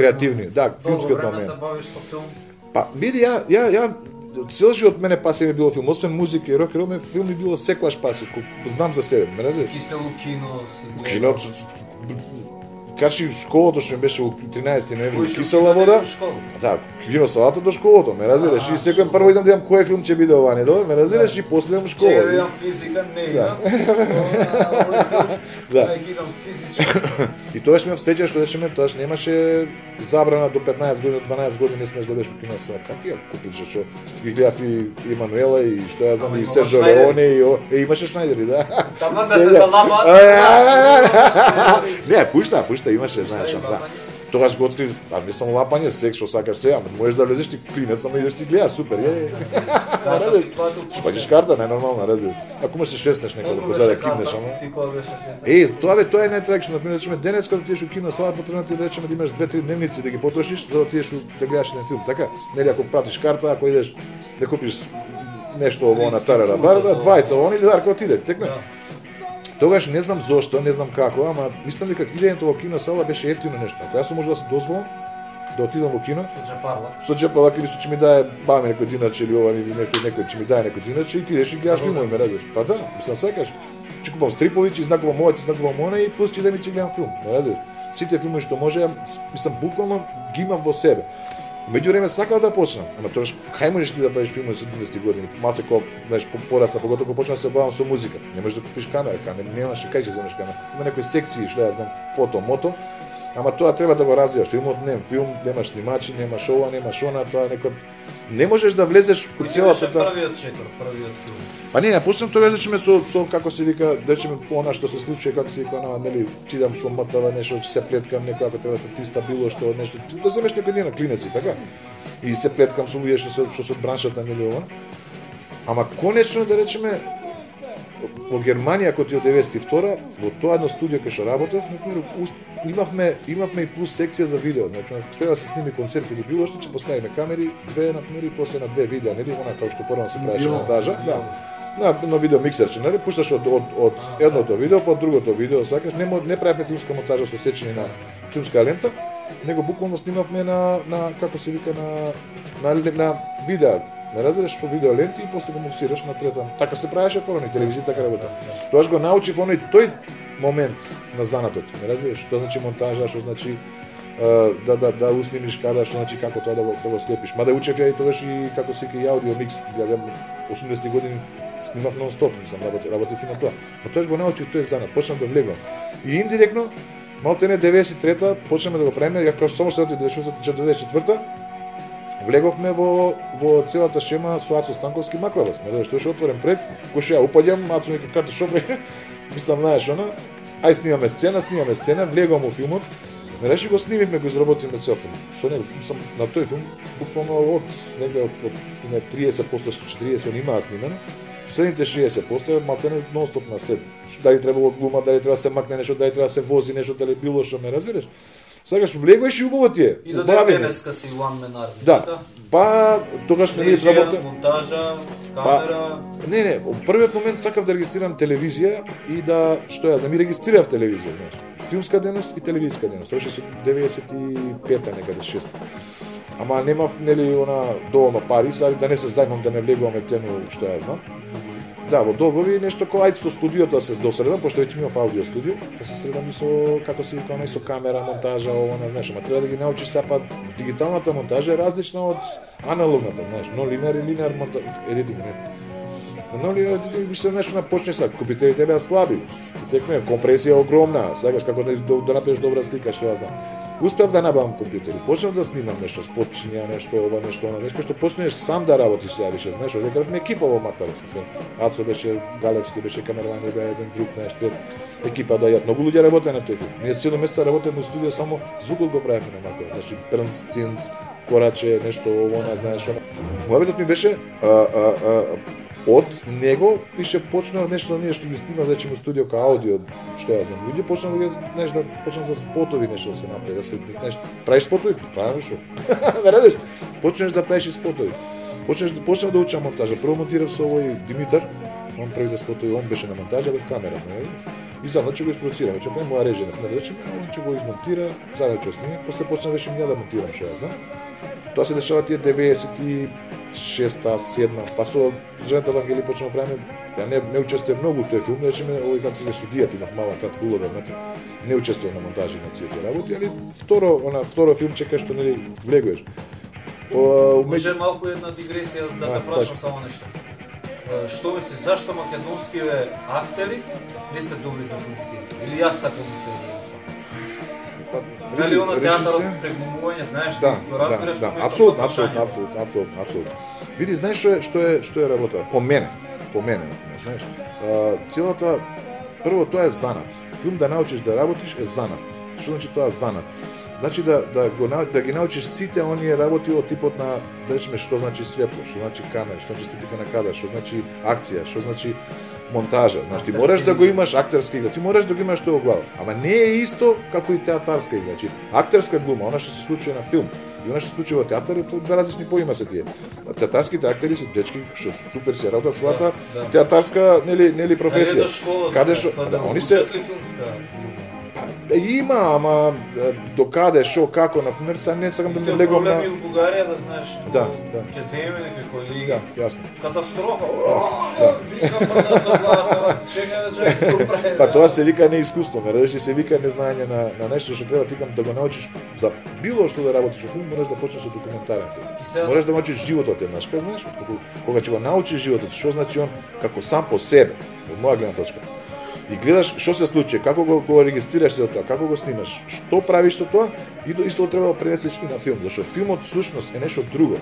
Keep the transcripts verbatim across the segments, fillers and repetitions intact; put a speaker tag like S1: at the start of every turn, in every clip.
S1: креативни. Да, филмскиот момент.
S2: Долго време се бавиш со филм?
S1: Па, види, ја, ја, ја, цел живот мене паси ми било филм, освен музика и рок, ме филм ми било секогаш паси, знам за себе, ме разбираш?
S2: Кисте у кино,
S1: Кино, качи школото што беше у тринаесети ноември кисела вода. Да, кино салата до школото, ме разбираш? И секој прво идам да видам кој филм ќе биде ова, не добро, ме разбираш? И после идам школа.
S2: Ќе видам физика, не идам. Да. Не идам физички.
S1: И тоаш ме встреча што речеме, тоаш немаше забрана до петнаесет години, дванаесет години не смеш да бидеш у кино сала. Како ја купиш што ги гледав и Емануела и што ја знам и Серджо Леоне и е имаше Шнајдери, да.
S2: Таму да се залабат.
S1: Не, пушта, пушта имаше, знаеш, да. Тогаш го откри, аз не сам лапање, секс што сакаш сега, можеш да влезеш ти клинец, само идеш ти гледаш, супер, е.
S2: Карта си платил.
S1: Платиш карта, најнормално, ради. Ако можеш се шеснеш некој да позаде киднеш, ама.
S2: Ти кога беше?
S1: Е, тоа бе, тоа е најтрагично, например, речеме денес кога отидеш у кино сала, потребно ти да речеме да имаш две-три дневници да ги потрошиш за да отидеш да гледаш еден филм, така? Нели ако пратиш карта, ако идеш да купиш нешто ово на Тарара Барба, двајца они или дарка отиде, текме. Тогаш не знам зошто, не знам како, ама мислам дека идењето во кино сала беше ефтино нешто. Ако јас можев да се дозволам да отидам во кино,
S2: со џепарла.
S1: Со џепарла или со ќе ми дае баме некој диначе или ова или некој некој ќе ми дае некој диначе и ти идеш и гледаш филмови, ме радиш. Па да, мислам сакаш. Ќе купам стрипови, ќе знакувам ова, ќе знакувам она и пус ќе да ми ќе гледам филм, ме радиш. Сите филмови што може, мислам буквално ги имам во себе. Меѓувреме сакав да почнам, ама тогаш кај можеш ти да правиш филмови со седумдесетти години? Малце кога знаеш порасна, поготово кога почнав да се бавам со музика. Не можеш да купиш камера, камера немаш, кај ќе земеш камера? Има некои секции што ја знам, фото, мото. Ама тоа треба да го развиваш. Филмот не, филм немаш снимачи, немаш ова, немаш она, тоа некој не можеш да влезеш во целата
S2: таа. Првиот чекор, првиот филм.
S1: Па не, не, почнам тоа речеме со со како се вика, речеме она што се случи, како се вика, она, нели, читам со мотава нешто, че се плеткам некој ако треба да се тиста било што нешто, да земеш некој ден на клинеци, така? И се плеткам со луѓе што се што се од браншата, нели ова. Ама конечно да речеме во Германија кога ти од деветдесет и втора во тоа едно студио кај што работев, например, имавме имавме и плюс секција за видео, значи ако треба да се сними концерт или било што, ќе поставиме камери, две например и после на две видеа, нели, она како што прво се правеше монтажа, да. На на видео миксерче, нели, пушташ од од од едното видео по другото видео, сакаш, не не правиме филмска монтажа со сечење на филмска лента, него буквално снимавме на на како се вика на на, на видео. Ме разбираш во видео ленти и после го муксираш на трета. Така се правеше прво на телевизија, така работа. Тоаш го научив оној тој момент на занатот. Ме разбираш, што значи монтажа, што значи uh, да да да уснимиш кадар, што значи како тоа да го да го слепиш. Мада учев ја и тогаш и како се и аудио микс, ја осумдесетти години снимав нон-стоп, сам работев, работев и на тоа. Но тоаш го научив тој занат, почнав да влегувам. И индиректно малте деветдесет и трета почнаме да го правиме, ја како само се деветдесет и четврта влеговме во во целата шема со Ацо Станковски Маклавас. Ме што беше отворен пред, го што ја упаѓам, Ацо нека карта шо бре. Мислам, знаеш, она, ај снимаме сцена, снимаме сцена, влегувам во филмот. Ме реши го снимивме, го изработиме цел филм. Со него, мислам, на тој филм буквално од негде од, од, од триесет до четириесет он имаа снимено. Следните шеесет проценти малтене нон-стоп на сет. Дали требало глума, дали треба да се макне нешто, дали треба да се вози нешто, дали било што, ме разбираш? Сакаш влегуваш и убаво ти е.
S2: И до денеска си one man army.
S1: Да. Па тогаш не ви работа
S2: монтажа, камера.
S1: Па, не, не, во првиот момент сакав да регистрирам телевизија и да што ја знам и регистрирав телевизија, знаеш. Филмска дејност и телевизиска дејност. Тоа беше деветдесет и пета некаде шеста. Ама немав нели она доволно пари, сади да не се зајмам да не влегувам ептено што ја знам. Да, во долгови нешто кој ајде со студиото се досредам, пошто веќе имав аудио студио, да се средам и со како се вика, со камера, монтажа, ова, не знаеш, ама треба да ги научиш сепа дигиталната монтажа е различна од аналогната, знаеш, но линеар и линеар монтаж, едитинг, не. Но линеар едитинг више нешто на почне сак, компјутерите беа слаби, текме компресија огромна, сакаш како да да направиш добра слика, што ја знам. Успеав да набавам компјутери, почнав да снимам нешто, спотчиња, нешто ова, нешто она, нешто што почнеш сам да работиш сега више, знаеш, одека бевме екипа во Маклавас. Ацо беше Галевски, беше камераман, беа еден друг, знаеш, трет екипа доаѓаат. Многу луѓе работеа на тој филм. Ние седум месеца работевме во студио, само звукот го правевме на Маклавас. Значи Брнц, Цинц, Кораче, нешто она, знаеш, она. Муабетот ми беше а, а, а, од него пише почнав нешто ние што ги снимав значи во студио кај аудио, што ја знам. Луѓе почнав да знаеш да почнав за спотови нешто да се направи, да се знаеш, правиш спотови, правиш што? Вередеш? Почнеш да правиш спотови. Почнеш почнав да учам монтажа. Прво монтирав со овој Димитар, он првите спотови, он беше на монтажа без камера, нели? И за ночи го испроцираме, че према моја режија, на речеме, он ќе го измонтира, за да ќе снима, после почна веќе ја да монтирам, што ја знам. Тоа се дешава тие деветдесет и шеста, седма, па со жената Вангели почнемо правиме, ја не не учествувам многу у тој филм, речеме, овој како се судијата, имав мала кратка улога, знаете, не учествувам на монтажи на тие работи, али второ, она второ филмче кај што нели влегуваш.
S2: Може малку една дигресија да те прашам само нешто. Што мислиш, зашто македонскиве актери не се добри за филмски? Или јас така мислам? Дали она театарот преглумување, знаеш,
S1: да,
S2: го разбираш
S1: да,
S2: кој
S1: да, апсолутно, апсолутно, апсолутно, апсолутно, апсолутно. Види, знаеш што е, што е, што е работа? По мене, по мене, знаеш. А, целата прво тоа е занат. Филм да научиш да работиш е занат. Што значи тоа занат? Значи да да го да ги научиш сите оние работи од типот на, да речеме, што значи светло, што значи камера, што значи статика на кадар, што значи акција, што значи монтажа. Значи ти мораш да го имаш актерска игра, ти мораш да го имаш тоа во глава. Ама не е исто како и театарска игра. Значи актерска глума, она што се случува на филм и она што се случува во театар, е тоа две различни поима се тие. Театарските актери се дечки што супер се работат својата да, да. театарска нели нели професија. Каде што да, они се има, ама докаде, шо, како, например, сега не сакам да ми легувам на...
S2: Проблеми у Бугарија, да знаеш,
S1: да, да.
S2: ќе земе некој лиги.
S1: Да, јасно.
S2: Катастрофа. Да. Викам прда со гласа, чекај да чекај.
S1: Па тоа се вика неискуство, ме радиш, се вика незнање на на нешто што треба тикам да го научиш за било што да работиш во филм, мораш да почнеш со документарен филм. Мораш да научиш животот еднаш, знаеш, кога ќе го научиш животот, што значи он како сам по себе, од моја гледна точка. И гледаш што се случи, како го, го регистрираш за тоа, како го снимаш, што правиш со тоа, и исто треба да пренесеш и на филм, зашто филмот всушност е нешто друго.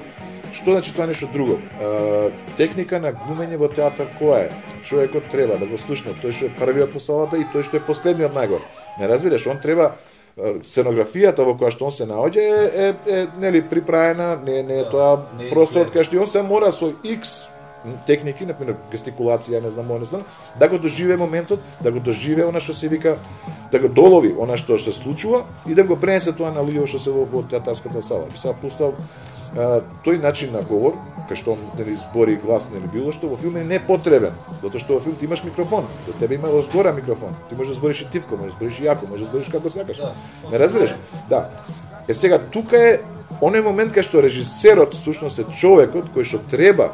S1: Што значи тоа нешто друго? Е, техника на глумење во театар која е? Човекот треба да го слушне, тој што е првиот во салата и тој што е последниот најгор. Не разбираш, он треба сценографијата во која што он се наоѓа е, е, е нели приправена, не не е тоа
S2: не
S1: просторот кај што он се мора со X техники, например гестикулација, не знам, не знам, да го доживее моментот, да го доживее она што се вика, да го долови она што се случува и да го пренесе тоа на луѓето што се во, во театарската сала. Би сега пустав а, тој начин на говор, кај што нели збори гласно или било што, во филм е непотребен, затоа што во филм ти имаш микрофон, до тебе има озгора микрофон. Ти можеш да збориш и тивко, можеш да збориш и јако, можеш да збориш како сакаш. Да. Не разбираш? Да. Е сега тука е оној момент кај што режисерот всушност е човекот кој што треба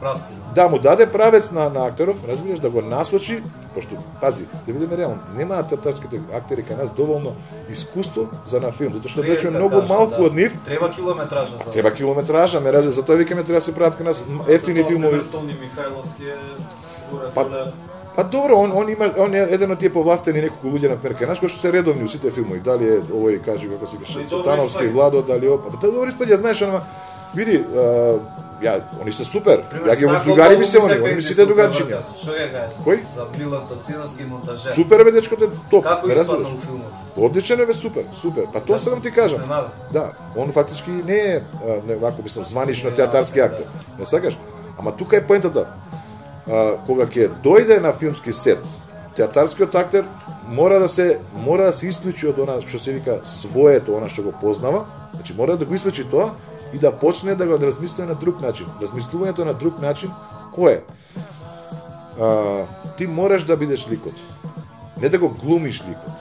S2: правци.
S1: Да му даде правец на, на актеров, разбираш, да го насочи, пошто, пази, да видиме реално, немаат театарските актери кај нас доволно искуство за на филм, затоа што речеме многу малку да. Од нив.
S2: Треба километража за.
S1: Треба километража, ме разбираш, затоа викаме треба да се прават кај нас ефтини филмови.
S3: Тони Михајловски е
S1: па, па добро, он он има он е еден од тие повластени неколку луѓе на пример кај нас кои што се редовни у сите филмови, дали е овој кажи како се каже Цветановски, Владо, дали опа. Па тоа добро испаѓа, знаеш, ама види, ја, они се супер. Ја ги другари ми се они, они ми сите другарчиња.
S2: Што ќе кажеш?
S1: Кој?
S2: За Милан Тоциновски монтажер.
S1: Супер бе, дечкото е топ.
S2: Како испадна у филмот?
S1: Одличен е бе, супер, супер. Па тоа сакам ти кажам. Да, он фактички не е, не вако мислам, званично театарски актер. Не сакаш? Ама тука е поентата. Кога ќе дојде на филмски сет, театарскиот актер мора да се мора да се исклучи од она што се вика своето, она што го познава. Значи мора да го исклучи тоа и да почне да го размисли на друг начин. Размислувањето на друг начин кој е? А, ти мораш да бидеш ликот. Не да го глумиш ликот.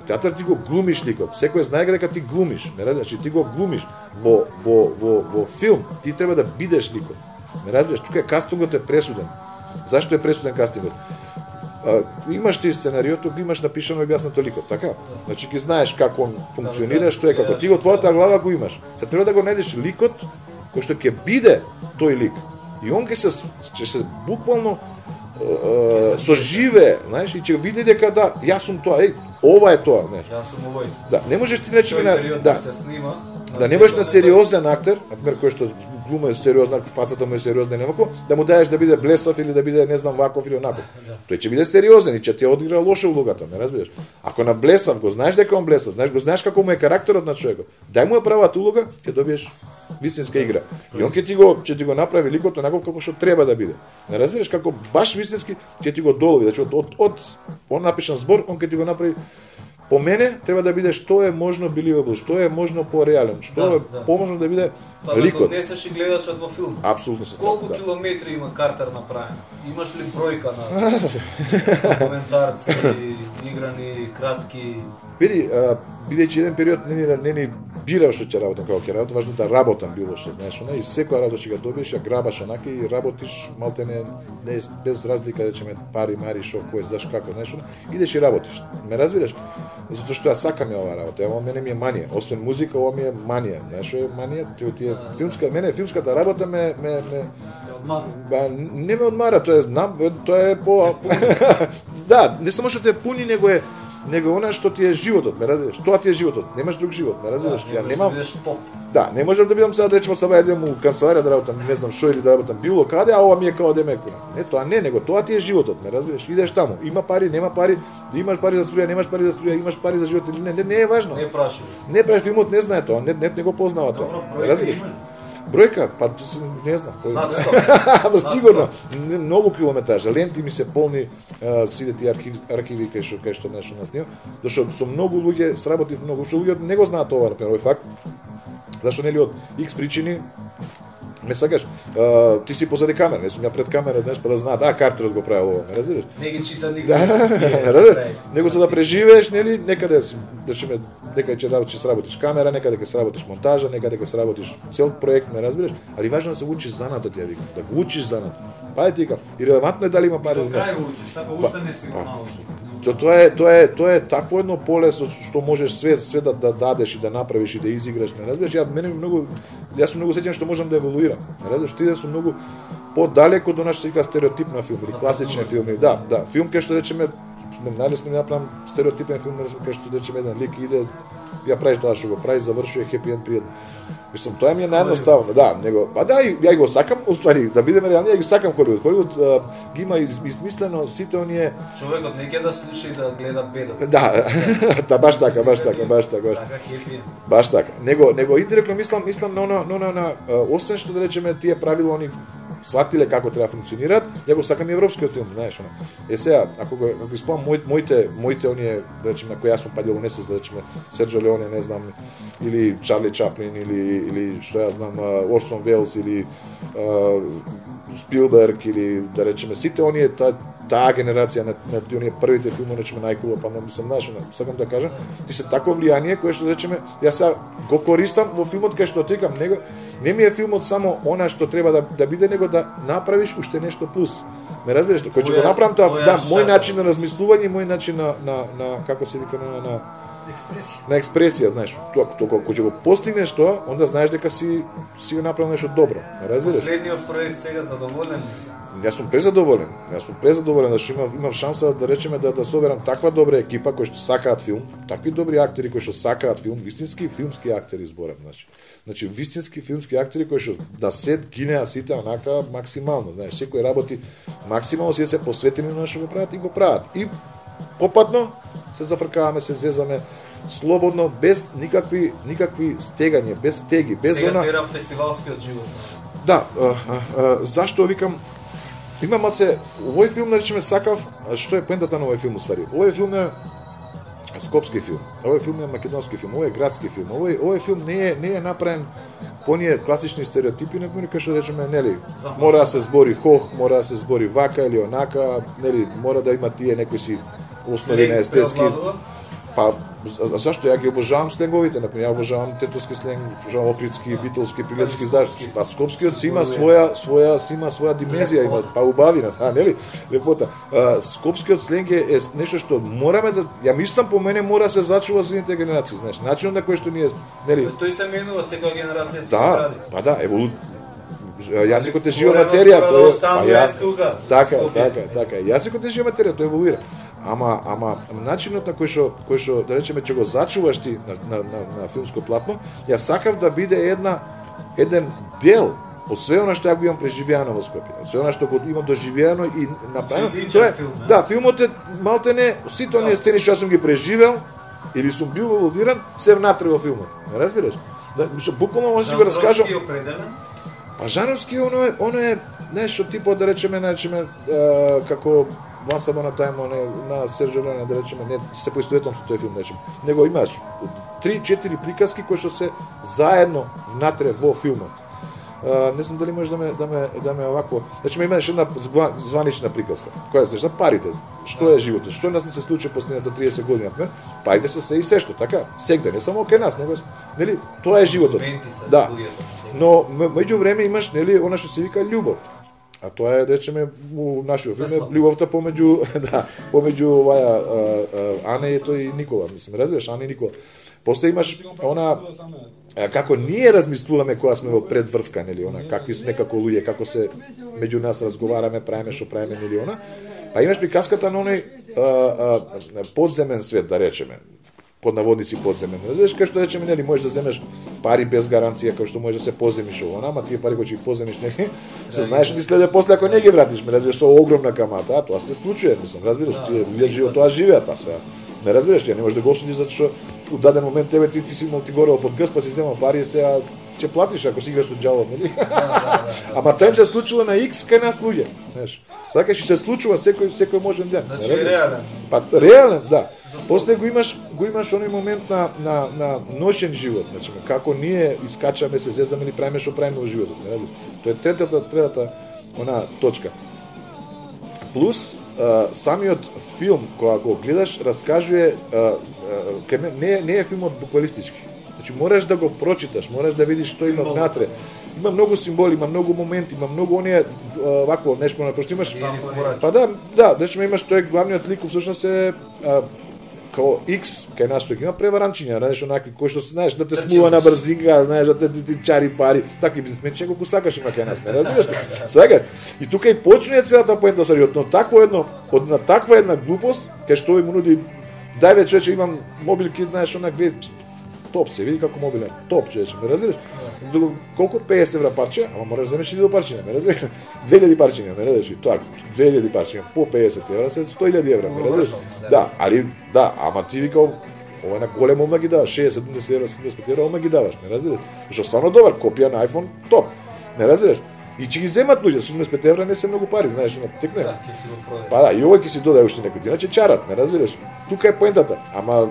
S1: Театар ти го глумиш ликот. Секој знае дека ти глумиш. Не разбираш, значи ти го глумиш во во во во филм. Ти треба да бидеш ликот. Не разбираш, тука е кастингот е пресуден. Зашто е пресуден кастингот? А, имаш ти сценариото, го имаш напишано и објаснато ликот, така? Значи ги знаеш како он функционира, што е, како ти во твојата глава го имаш. Се треба да го најдеш ликот кој што ќе биде тој лик. И он ќе се ќе се буквално е, соживе, знаеш, и ќе види дека да, јас сум тоа, еј, ова е тоа, знаеш.
S2: Јас сум овој.
S1: Да, не можеш ти речеме на да
S2: се снима.
S1: Да не можеш на сериозен актер, например кој што глума е сериозна, фасата му е сериозна и немако, да му даеш да биде блесав или да биде не знам ваков или онаков. Тој ќе биде сериозен и ќе ти одигра лоша улогата, не разбираш. Ако на блесав го знаеш дека он блесав, знаеш го знаеш како му е карактерот на човекот. Дај му ја правата улога, ќе добиеш вистинска игра. И он ќе ти го ќе ти го направи ликот онаков како што треба да биде. Не разбираш како баш вистински ќе ти го долови, значи од од, од он напишан збор, он ќе ти го направи по мене треба да биде што е можно believable, што е можно пореален, што
S2: Да,
S1: е
S2: да.
S1: поможно да биде
S2: Па да
S1: ликот.
S2: донесеш и гледачот во филм.
S1: Апсолутно се
S2: Колку
S1: да.
S2: километри има Картер направен? Имаш ли бројка на документарци, играни, кратки?
S1: Види, а, бидејќи еден период не ни не ни бирав што ќе работам како ќе работам, важно да работам било што, знаеш, не, и секоја работа ќе го добиеш, ја грабаш онака и работиш малтене не без разлика да чеме пари, мари, шо, кој знаеш како, знаеш, не, идеш и работиш. Ме разбираш? Затоа што ја сакам ја оваа работа, ова мене ми е манија, освен музика, ова ми е манија, знаеш, е манија, ти ти е филмска, мене филмската работа ме ме ме Ба, не ме одмара, тоа е, знам, тоа е по... да, не само што те пуни, него е него она што ти е животот, ме разбираш? Тоа ти е животот, немаш друг живот, ме разбираш?
S2: Да,
S1: Ја немам...
S2: Да, поп.
S1: Да, не можам да бидам сега да речеме саба едем у канцеларија да работам, не знам што или да работам било каде, а ова ми е као да мекуна. Не, тоа не, него тоа ти е животот, ме разбираш? Идеш таму, има пари, нема пари, да имаш пари за струја, немаш пари за струја, имаш пари за живот или не, не, не е важно.
S2: Не прашувам.
S1: Не прави филмот, не знае тоа, не, не, не го познава тоа.
S2: Добро,
S1: Ме
S2: бројка
S1: разбираш?
S2: има ли?
S1: Бројка, па не знам.
S2: Над сто.
S1: Ба сигурно, не- многу километража, ленти ми се полни, а, сите тие архиви, архиви кај што кај што нешто нас снима, зашто со многу луѓе сработив многу, што луѓето не го знаат ова, например, овој факт. Зашто нели од X причини ме сакаш, а, ти си позади камера, не сум ја пред камера, знаеш, па да знаат, а Картерот го правил ова, ме разбираш?
S2: Не ги чита никој.
S1: Да, да, него за да преживееш, нели, некаде си, да шеме, некаде ќе работиш, сработиш камера, некаде ќе сработиш монтажа, некаде ќе сработиш цел проект, ме разбираш, али важно е да се учиш занатот, ја викам, да го учиш занат. Па ти викам, и релевантно е дали има пари
S3: До
S1: или не.
S3: крај го учиш, така уште не си го научил.
S1: То тоа е тоа е тоа е такво едно поле со што можеш све све да, да дадеш и да направиш и да изиграш, ме разбираш? Ја мене ми многу јас сум многу сеќавам што можам да еволуирам. Ме разбираш? Ти да сум многу подалеку до нашата вика стереотипна филм или класични филми. Да, да, филм кај што речеме сме најлесно да направам стереотипен филм, кај што речеме еден лик иде ја прави тоа што го прави, завршува хепи енд пријатно. Мислам, тоа ми е наједноставно, да, него, па да, и ја го сакам, уствари, да бидеме реални, ја ги сакам Холивуд. Холивуд а, ги има из, измислено сите оние.
S2: Човекот не ќе да слуша и да гледа бедот.
S1: Да, да, баш така, баш така, баш така, баш.
S2: Сака хепи енд.
S1: Баш така. Него него индиректно мислам, мислам на она, на она, на а, освен што да речеме тие правила они сватиле како треба да функционираат, ја го сакам и европскиот филм, знаеш, она. Е сега, ако го ако ги спомнам моите моите моите оние, да речеме, на кои јас сум падил во несвест, да речеме Серджо Леоне, не знам, или Чарли Чаплин или или што ја знам Орсон Велс или а, Спилберг или да речеме сите оние та таа генерација на, на тие првите филми, речеме најкула, па не мислам, знаеш, она, сакам да кажам, ти се такво влијание кое што речеме јас сега го користам во филмот кај што тикам, него не ми е филмот само она што треба да да биде, него да направиш уште нешто плюс. Ме разбираш, кој ќе го направам тоа,
S2: твоја
S1: да, мој
S2: шарм.
S1: начин на размислување, мој начин на на на како се вика на на
S3: Експресија.
S1: на експресија, знаеш, тоа тоа кога ќе го постигнеш тоа, онда знаеш дека си си го направил нешто добро. Ме разбираш?
S2: Последниот проект сега задоволен ли си?
S1: Јас сум презадоволен. Јас сум презадоволен зашто имав имав шанса да речеме да да соберам таква добра екипа кои што сакаат филм, такви добри актери кои што сакаат филм, вистински филмски актери зборам, значи. Значи вистински филмски актери кои што на сет гинеа сите онака максимално, знаеш, секој работи максимално си се посветени на што го прават и го прават. И попатно се зафркаваме, се зезаме слободно, без никакви никакви стегања, без стеги, без
S2: Сега
S1: она.
S2: тера фестивалскиот живот.
S1: Да, а, а, а, зашто викам има маце, овој филм да речеме сакав, а што е поентата на овој филм уствари? Овој филм е скопски филм. Овој филм е македонски филм, овој е градски филм. Овој овој филм не е не е направен по оние класични стереотипи, на кои што речеме, нели, мора да се збори хох, мора да се збори вака или онака, нели, мора да има тие некои си основи на естетски.
S2: преобладува?
S1: Па, за- зашто ја ги обожавам сленговите, например, ја обожавам тетовски сленг, обожавам охридски, битолски, прилепски, знаеш, па скопскиот си има своја своја си има своја димензија, има па убавина, а нели? Лепота. А, скопскиот сленг е, е нешто што мораме да ја мислам по мене мора да се зачува за идните генерации, знаеш, начинот на кој што ние, нели,
S2: Тој се менува, секоја генерација се
S1: да,
S2: гради.
S1: па да, еволу јазикот е жива
S2: Коренот
S1: материја,
S2: мора да
S1: тој е,
S2: останува
S1: па јас,
S2: тука,
S1: така,
S2: Скопје.
S1: така, така, јазикот е жива материја, тој еволуира. Ама, ама начинот на кој што кој што да речеме ќе го зачуваш ти на, на, на, на филмско платно, ја сакав да биде една еден дел од све она што ја го имам преживеано во Скопје, од све она што го имам доживеано и направено.
S2: Личен
S1: Тоа е,
S2: филм, не?
S1: да, филмот е малтене сите оние сцени што јас сум ги преживел или сум бил инволвиран, се внатре во филмот. Не разбираш? Да, што буквално може да си го раскажам.
S2: Жанровски определен?
S1: Па жанровски оно е, оно е нешто типот да речеме, да речеме, е, како Once Upon a Time не, на Серджио Леоне, да речеме, не се поистоветам со тој филм, речеме. Него имаш три-четири приказки кои што се заедно внатре во филмот. Uh, не знам дали можеш да ме да ме да ме овакво. Значи имаш една званична приказка. Која се за парите. Што е животот? Што нас не се случи последните триесет години, например? Парите се се и се што, така? Сегде, не само кај нас, него нели тоа е животот. Да. Но меѓу време имаш нели она што се вика љубов. А тоа е, да речеме, у нашиот филм љубовта помеѓу да, помеѓу оваа Ане и тој Никола, мислам, разбираш, Ане и Никола. После имаш она како ние размислуваме кога сме во предврска, нели, она какви сме како луѓе, како се меѓу нас разговараме, правиме што правиме, нели, она. Па имаш приказката на оној подземен свет, да речеме, под наводници подземен. Знаеш кај што речеме, нели, можеш да земеш пари без гаранција, како што можеш да се поземиш ово, ама тие пари кои ќе ги поземиш, нели, се знаеш што ти следе после ако не ги вратиш, ме разбираш, со огромна камата, а тоа се случува, мислам, разбираш, тие луѓе живеат тоа живеат, па се. Не разбираш, ја не можеш да го осудиш затоа што у даден момент тебе ти, ти си имал ти горел под грб, па си земал пари и сега ќе платиш ако си играш од џавот, нели? Да, да, да, Ама тоа се случува на X кај нас луѓе, знаеш. Сакаш и се случува секој секој можен ден.
S2: Значи е реален.
S1: Па реален, да. После го имаш го имаш оној момент на на на ношен живот, значи како ние искачаме, се зезаме или правиме што правиме во животот, не разбираш. Тоа е третата третата она точка. Плюс Uh, самиот филм кога го гледаш раскажува uh, uh, не не е филмот буквалистички. Значи мораш да го прочиташ, мораш да видиш што има внатре. Има многу символи, има многу моменти, има многу оние uh, вако нешто на пошто имаш. Па да, да, значи имаш тој главниот лик всушност е uh, као X, кај нас што има преваранчиња, знаеш, онакви кои што знаеш да те смува на брзинка, знаеш да те ти чари пари, такви бизнесмени колку сакаш има кај нас, не разбираш? Сега и тука и почнува целата поента со од такво едно, од на таква една глупост, кај што им нуди дај ве човече имам мобилки, знаеш, онак глед топ се, види како мобилен, топ човече, не разбираш? Колку песет евра парче, ама мораш да земеш илјада парчиња, не разбираш? две илјади парчиња, не разбираш? Тоа, две илјади парчиња по песет евра се сто илјади евра, не разбираш? Да, али да, ама ти викал ова на големо ма ги даваш, шеесет седумдесет евра, седумдесет евра, ма ги даваш, не разбираш? Што стварно добар, копија на iPhone, топ. Не разбираш? И ќе ги земат луѓе, седумдесет евра не се многу пари, знаеш, на текне.
S2: Да, ќе си го продаде.
S1: Па да, и овој ќе си додаде уште некој, иначе чарат, не разбираш? Тука е поентата, ама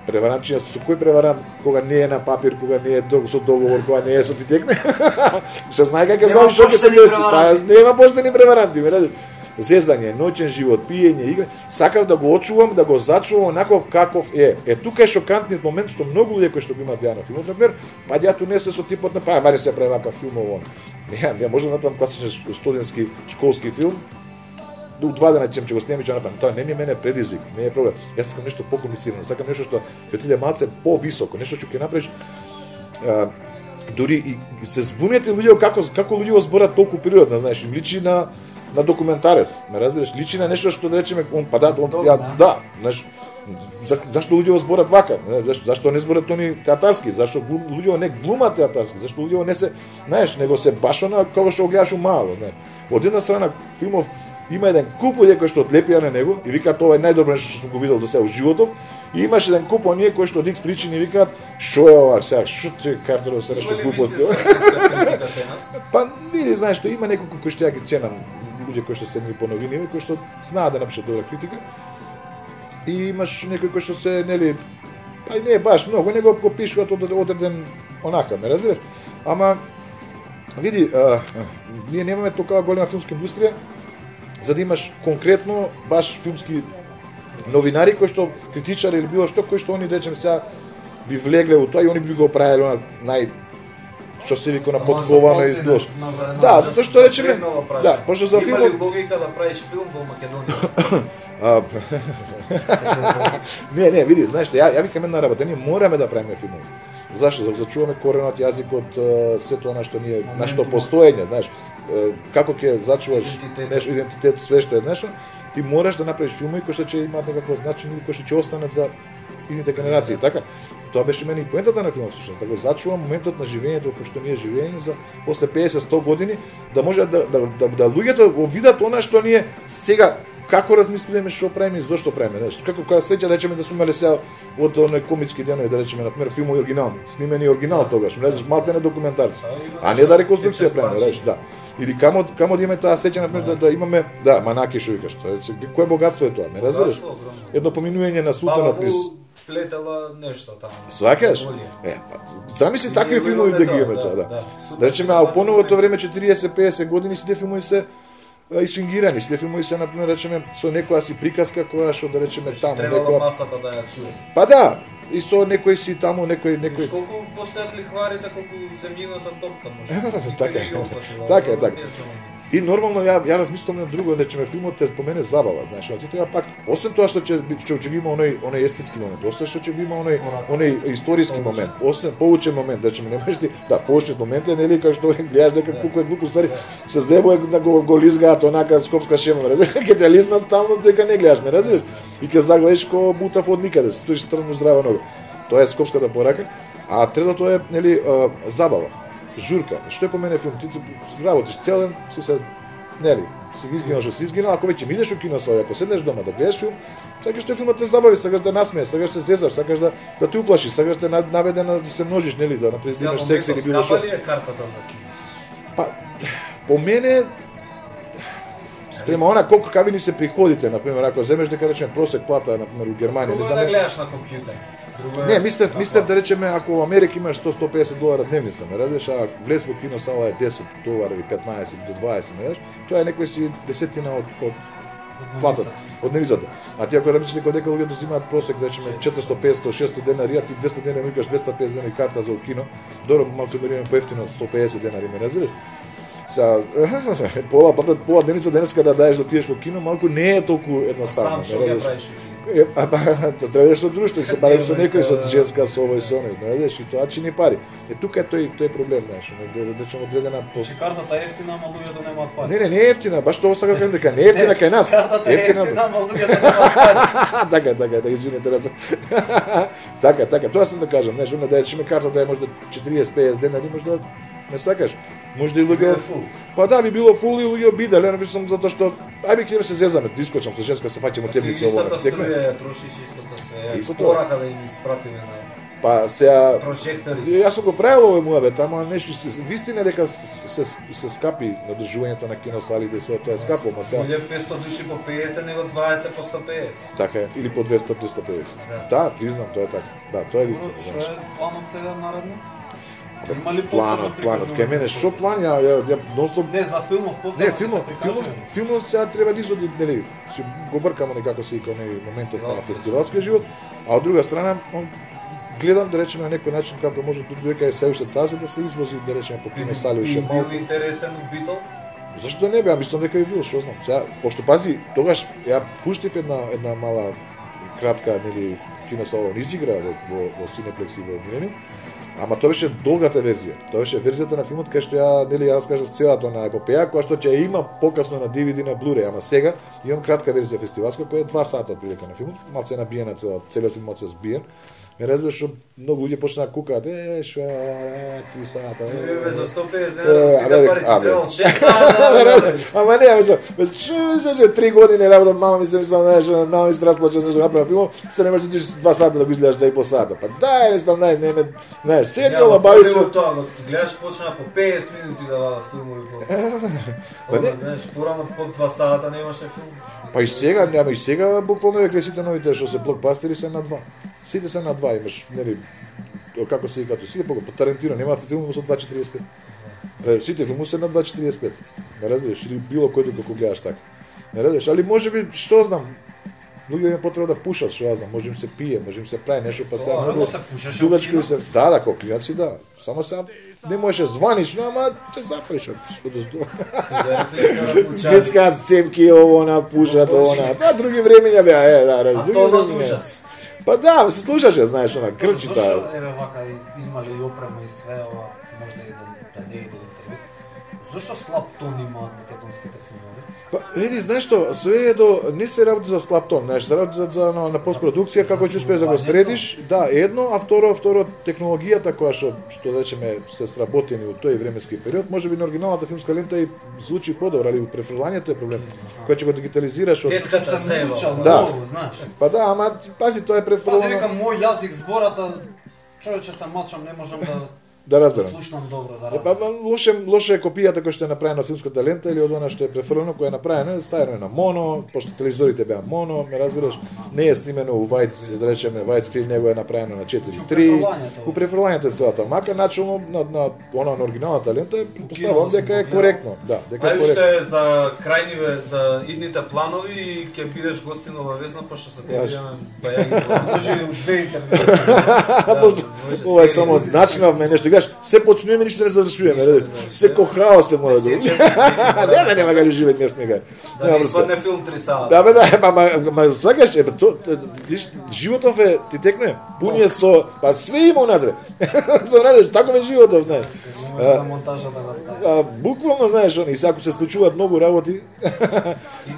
S1: преваранчиња со кој преварант кога не е на папир, кога не е со договор, кога не е со ти текне. Се знае како ќе знаеш што ќе се деси, па нема поштени преваранти, ме разбираш? Зезање, ноќен живот, пиење, игра, сакав да го очувам, да го зачувам онаков каков е. Е, тука е шокантниот момент што многу луѓе кои што го имаат ја на филмот, например, па јато не се со типот на па, мари се прави вакав филм ово. Не, ја може да направам класичен студентски школски филм. До два дена ќе го снимам и ќе направам. Тоа не ми е мене предизвик, не е проблем. Јас сакам нешто покомплицирано, сакам нешто што ќе отиде малце повисоко, нешто што ќе направиш. А, дури и се збунете луѓе како како луѓе го зборат толку природно, знаеш, им личи на на документарец, ме разбираш, личи на нешто што да речеме он па да, он, ја, да, знаеш, за, зашто луѓе го зборат вака, зашто зашто не зборат они театарски, зашто луѓе не глумат театарски, зашто луѓе не се, знаеш, него се баш она како што го гледаш умало, знаеш. Од една страна филмов има еден куп луѓе кои што одлепија на него и викаат ова е најдобро нешто што сум го видел до сега во животов. И имаше еден куп оние кои што од Икс причини викаат што е ова сега, што ти картеро се нешто глупости. Па види, знаеш, што има неколку кои што ја ги ценам, луѓе кои што се ни поновини, кои што знаат да напишат добра критика. И имаш некои кои што се нели, па и не е баш многу, него го пишуваат од одреден онака, ме разбираш? Ама види, а, ние немаме толкова голема филмска индустрија за да имаш конкретно баш филмски новинари кои што критичари или било што кои што они речем сега би влегле у тоа и они би го правеле на нај што се вика на подковано изглош. Да, затоа што речеме, да, пошто за филмот
S2: има ли логика да правиш филм во Македонија?
S1: Не, не, види, знаеш што, ја ја викам една работа, ние мораме да правиме филмови. Зашто? За да зачуваме коренот јазикот, сето она што ние нашето постоење, знаеш, како ќе зачуваш нешто идентитет, све што е нешто, ти мораш да направиш филмови кои што ќе имаат некакво значење, кои што ќе останат за идните генерации, така? Тоа беше мене и поентата на филмот, всушност, да го зачувам моментот на живењето кој што ние живееме за после песет сто години, да може да да да, да луѓето го видат она што ние сега како размислуваме што правиме и зошто правиме, знаеш, како кога сеќа речеме да сме имале сега од оној комички денови, да речеме на пример филмови оригинални, снимени оригинал тогаш, не знаеш, малте не документарци, а не да реконструкција правиме, знаеш, да. Или камо камо да имаме таа сеќа на пример да, да имаме да манаки што викаш, тоа е кое богатство е тоа, ме разбираш? Едно поминување на султанот низ
S2: плетела нешто таму.
S1: Сваќаш? Е, па замисли такви филмови да ги имаме тоа, да. Да речеме, а по новото време четириесет пеесет години сите филмови се исфингирани, сите филмови се на пример речеме со некоја си приказка која што да речеме таму
S2: некоја масата да ја чуе.
S1: Па да, и со некој си таму некој некој
S2: колку постојат лихварите, колку земјината топка може.
S1: Така е. Така е, така. И нормално ја ја размислувам на друго, речеме филмот те спомене забава, знаеш, ти треба пак освен тоа што ќе ќе ќе има оној оној естетски момент, освен што ќе има оној оној историски момент, освен поучен момент, речеме не можеш ти, да, поучен момент е нели кај што гледаш дека колку е глупо ствари, се зебува да го го лизгаат онака скопска шема, разбираш, ќе те лиснат таму дека не гледаш, ме разбираш? И ќе загледаш ко бутав од никаде, стоиш трно здрава нога. Тоа е скопската порака, а третото е нели забава. Журка. Што е по мене филм? Ти работиш целен, си се нели, си ги изгинал што си изгинал, ако веќе идеш у кино со, ако седнеш дома да гледаш филм, сакаш тој филмот те забави, сакаш да насмееш, сакаш се зезаш, сакаш да да те уплашиш, сакаш да наведе да се множиш, нели, да например имаш секс или било што.
S2: Скапа ли е картата за кино?
S1: Па по мене спрема она колку какви ни се приходите, например, ако земеш дека речеме просек плата, например, у Германија,
S2: или за да гледаш на компјутер.
S1: Не, мислев, мислев да речеме ако во Америка имаш сто до сто песет долара дневница, ме радиш, а влез во кино сала е десет долара или петнаесет до дваесет, ме радиш, тоа е некој си десетина од од платата, од дневницата. А ти ако работиш дека дека луѓето земаат просек, да речеме четиристо, петстотини, шестстотини денари, а ти двесте денари викаш двесте и песет денари карта за кино, добро малку мериме поевтино сто и песет денари, ме разбираш? Са пола платат пола дневница денеска да даеш да отидеш во кино, малку не е толку едноставно.
S2: Сам што ќе правиш?
S1: Е, а па треба со друштво, се барем со некој со женска со овој со оној, знаеш, и тоа чини пари. Е тука е тој тој проблем, знаеш, да речеме одредена по.
S3: Че картата е ефтина, ама луѓето немаат пари.
S1: Не, не, не е ефтина, баш тоа сакам да кажам дека не е ефтина кај нас.
S3: Картата е ефтина, ама луѓето немаат пари.
S1: Така, така, така, извинете, разбрав. Така, така, тоа сам да кажам, знаеш, она да речеме картата е можда четириесет песет денари, можда не сакаш. Може и луѓе. Па да, би било фул и луѓе обиделе, не мислам затоа што ајде ќе се зезаме, да искочам со женска се фаќаме темница ова.
S2: Истата струја трошиш истото се. Порака да им испратиме на
S1: Па сега
S2: прожектори.
S1: Јас сум го правил овој муабет, ама нешто вистина дека се се скапи надржувањето на киносалите, се тоа е скапо, ма сега
S2: Биле петстотини души по педесет, него дваесет по сто педесет.
S1: Така е, или по двесте до двесте педесет.
S2: Да,
S1: да признам, тоа е така. Да, тоа е вистина.
S3: Што е планот сега наредно? Има ли
S1: планот, планот, кај мене што план ја ја, ја ностоп.
S3: Не, за филмов повторно.
S1: Не, филмов, филмов, филмов сега треба да изоди, нели, си го бркамо некако се и кај нели моментот на фестивалскиот живот, а од друга страна, он гледам да речеме на некој начин како може дека е се уште тази да се извози да речеме по кино сали уште малку.
S2: Бил интересен од Битол?
S1: Зашто не бе, мислам дека би било, што знам. Сега, пошто пази, тогаш ја пуштив една една мала кратка нели киносала изигра во во, во Cineplex и во Millennium. Ама тоа беше долгата верзија. Тоа беше верзијата на филмот кај што ја нели ја раскажав целата на епопеја, која што ќе ја има покасно на ди ви ди на Blu-ray, ама сега имам кратка верзија фестивалска која е два сата отприлика на филмот, малку е набиена цела, целиот филм малку збиен. Ме разбираш што многу луѓе почнаа да кукаат, е, што е, три сата.
S2: Е, за сто педесет денари си да пари си требал шест сата.
S1: Ама не, мислам, што што три години работам, мама ми се мислам, знаеш, мама ми се расплача за што направи филм, се не можеш да идиш два сата да го изгледаш два и пол сата. Па дај, мислам, знаеш, не ме, знаеш, седнала, бави се.
S2: Тоа, гледаш почна по педесет минути да вадат филмови по. Па знаеш, порано по два сата не имаше филм.
S1: Па и сега, нема и сега буквално веќе сите новите што се блокбастери се на два. Сите се на два, имаш, нели, како се викаат, сите по Тарантино нема филм со два четириесет и пет. Сите филми се на два четириесет и пет. Не разбираш, или било кој доколку гледаш така. Не разбираш, али можеби, што знам, луѓе има потреба да пушат, што ја знам, може им се пие, може им се прави нешто, па сега
S3: многу се пушеше.
S1: дугачки се, да, да, како клиенци, да. Само сега не можеше званично, ама ќе запреш што да здо. Детскаат семки ово на пушат ово на. Тоа други времења беа, е, да, раз, други времења. Па да, се слушаше, знаеш, она крчи таа.
S3: Зошто еве вака имале и опрема и све ова, можда и да не иде интервју. Зошто слаб тон имаат македонските филмови?
S1: Па, еди, знаеш што, све е до не се работи за слаб тон, знаеш, се работи за, за на, на постпродукција како ќе успееш да го средиш. Да, едно, а второ, второ технологијата која што што да речеме се сработени во тој временски период, можеби на оригиналната филмска лента и звучи подобро, али префрлањето е проблем. Кој ќе го дигитализираш од
S2: Тетката се
S1: да,
S3: знаеш.
S1: Па да, ама пази тоа е префрлано.
S3: Пази, викам, мој јазик збората, човече се мачам, не можам да
S1: да разберам.
S3: Слушнам добро, да
S1: Па
S3: разберам.
S1: лоше лоше е копијата која што е направена од филмската лента или од она што е префрлено, која е направена, ставено е на моно, пошто телевизорите беа моно, ме разбираш, не е снимено у white, да речеме, white screen, него е направено на четири три. У префрлањето е целата, мака начелно на на она на оригиналната лента поставам дека е коректно, да, дека е
S2: Ај
S1: коректно.
S2: уште за крајниве, за идните планови и ќе бидеш гостин обавезно, пошто се те видиме па ја ги
S3: Може и у две интернет.
S1: Пошто ова е само начинавме нешто, гаш, се почнуваме, ништо не завршуваме, се ко хаос се мора да. Не, не, нема га живеат нешто нега.
S2: Да не испадне филм три сала.
S1: Да, бе, да, ма, ма, ма, сакаш, е, то, виж, животов е, ти текне, пун е со, па све има унатре. Со надеш, таков е животов, знаеш.
S3: Може да монтажа да го стави.
S1: А, буквално, знаеш, они, сега ако се случуваат многу работи,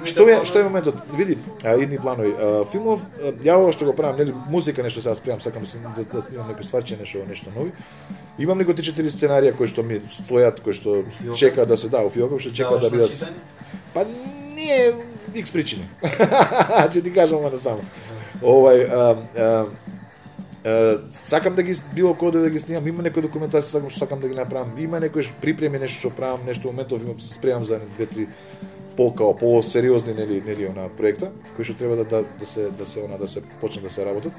S1: што е, што е моментот, види, а, идни планови, а, филмов, а, ја ова што го правам, нели, музика нешто сега спремам, сакам да, да снимам некој стварче, нешто, нешто нови. Имам некои три четири сценарија кои што ми стојат, кои што чекаат да се да, у фиоков што чекаат да бидат. Па не е икс причини. Ќе ти кажам ама само. Овај а, а, а, сакам да ги било кој да ги снимам, има некои документации сакам што сакам да ги направам. Има некои припреми нешто што правам, нешто моментов имам се спремам за две три по-као по-сериозни нели нели она проекта кои што треба да да, да се да се она да се почне да се работат.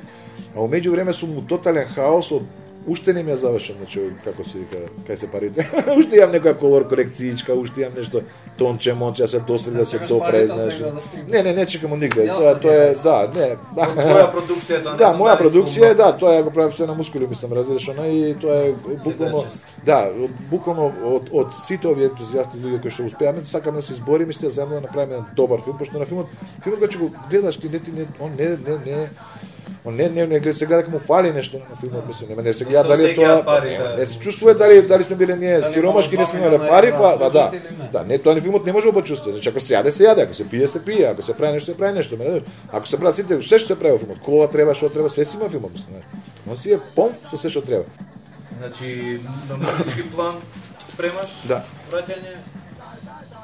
S1: А во меѓувреме сум у тотален хаос од уште не ми е завршен, значи како се вика, кај се парите. Уште имам некоја колор корекциичка, уште имам нешто тонче, монче, се досреди да се допре, знаеш. Не, не, не чекам од нигде. Тоа тоа е, да, не.
S2: Твоја продукција тоа не.
S1: Да, моја продукција е, да, тоа ја го правам се на мускули, мислам, разбираш, она и тоа е буквално, да, буквално од од сите овие ентузијасти луѓе кои што успеаме, сакаме да се избориме, сте заедно да направиме добар филм, пошто на филмот, филмот кога ќе го гледаш ти не ти не, он не не не Он не не не гледа сега дека му фали нешто на филмот, мислам, нема не сега дали тоа не се чувствува дали дали сме биле ние сиромашки, не сме имале пари, па да, да. Да, не тоа ни филмот не може да почувствува. Значи ако се јаде се јаде, ако се пие се пие, ако се прави нешто се прави нешто, ме. Ако се прави сите, се што се прави во филмот, кола треба, што треба, све си има филмот, мислам. Но си е пом со се што треба.
S2: Значи на музички план спремаш?
S1: Да.
S2: Враќање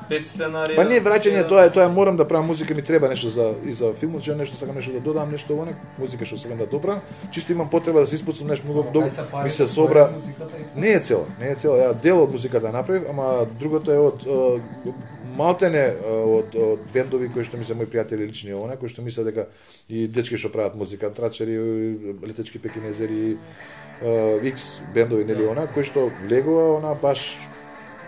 S2: пет сценарија.
S1: Па не враќање, тоа е, тоа е морам да правам музика, ми треба нешто за и за филмот, че нешто сакам нешто да додам, нешто во музика што сакам да добра. Чисто имам потреба да се испуцам нешто многу добро. Ми се собра. Не е цела, не е цела. Ја дел од музиката направив, ама другото е од малтене од од бендови кои што ми се мои пријатели лични она, кои што мислат дека и дечки што прават музика, трачери, летечки пекинезери, X бендови нели она, кои што влегува она баш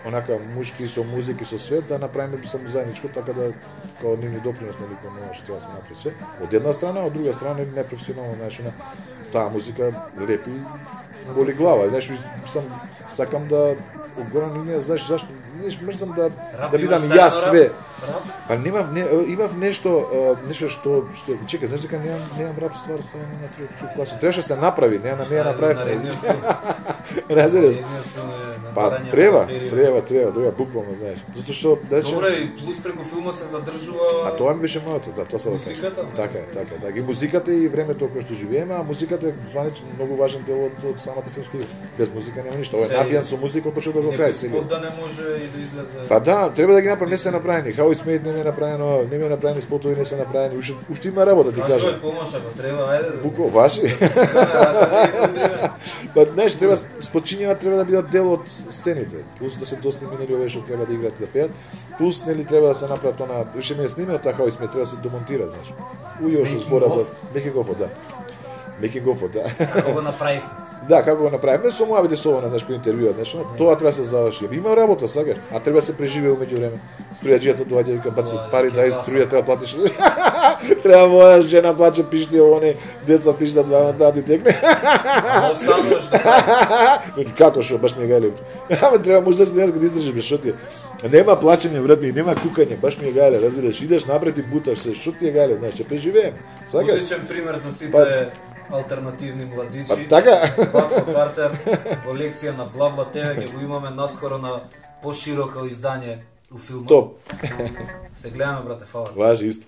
S1: онака мушки со музики со свет да направиме само заедничко така да као нивни допринос нели кон она што треба да се направи све. Од една страна, од друга страна непрофесионално, знаеш, на таа музика лепи боли глава, знаеш, сам сакам да огорам линија, знаеш зашто, знаеш, мрзам да да бидам јас све. Па нема не, имав нешто нешто што што чекај, знаеш дека немам немам рап ствар ставам на трети класа. Требаше се направи, не на неа направи. Разбираш? Па треба, треба, треба, треба буквално, знаеш. Затоа што да речем.
S2: Добре, и плюс преку филмот се задржува.
S1: А тоа ми беше моето, да, тоа се
S2: музиката.
S1: Така е, така е, така. И музиката и времето кое што живееме, а музиката е званично многу важен дел од, од самата филмска игра. Без музика нема ништо. Ова е набиен со музика од почеток до крај.
S2: Некој да не може и да излезе.
S1: Па да, треба да ги направи, не се направени. How It's Made не е направено, не е направени спотови, не се направени. Уште уште има работа, ти кажам.
S2: Вашо помош ако треба, ајде.
S1: Буко, ваши. Па знаеш, треба спочињава треба да бидат дел од сцените. Плюс да се досними нели овие што треба да играат и да пеат. Плюс нели треба да се направат она, уште не е снимено така How It's Made, треба да се демонтира, знаеш. Ујо што збора за Меки Гофо, да. Меки Гофо, да.
S2: Како го направивме?
S1: Да, како го направиме, со моја биде со она, знаеш, кој интервјуа, знаеш, тоа треба да се заврши. Има работа, сакаш, а треба да се преживее во меѓувреме. Струјаџијата доаѓа и вика баци пари, дај струја треба платиш. Треба моја жена плаче пишти оне, деца пиштат двама тати текне.
S2: А остануваш така.
S1: Како шо, баш ми гајле. Ама треба можда се денес го издржиш без шо ти. Нема плачење, брат ми, нема кукање, баш ми е гајле, разбираш, идеш напред и буташ се, шо ти е гајле, знаеш, ќе преживееме. Сакаш?
S2: Одличен пример за сите алтернативни младичи.
S1: Па така.
S2: Батко Картер во лекција на Блабла Те Ви ќе го имаме наскоро на пошироко издање у филмот.
S1: Топ.
S2: Се гледаме, брате, фала.
S1: Важи исто.